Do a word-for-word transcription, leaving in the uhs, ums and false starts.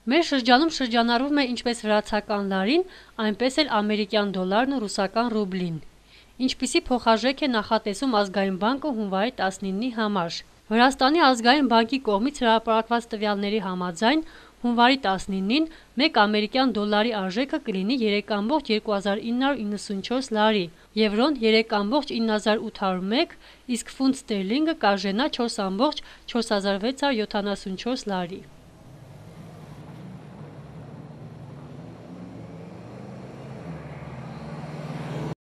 Մեր շրջանում շրջանառվում է ինչպես վրացական լարին, այնպես էլ ամերիկյան դոլարն ու ռուսական ռուբլին։ Ինչպիսի փոխարժեք է նախատեսում Ազգային բանկը հունվարի տասնինի համար։ Վրաստանի ազգային բանկի կողմից հրապարակված տվյալների համաձայն հունվարի տասնինին մեկ ամերիկյան դոլարի արժեքը կլինի երեք կόμ երկու հազար ինը հարյուր իննսունչորս լարի, եվրոն երեք կόμ ինը հազար ութ հարյուր մեկ, իսկ ֆունտ ստերլինգը կարժենա չորս կόμ չորս հազար վեց հարյուր յոթանասունչորս լարի։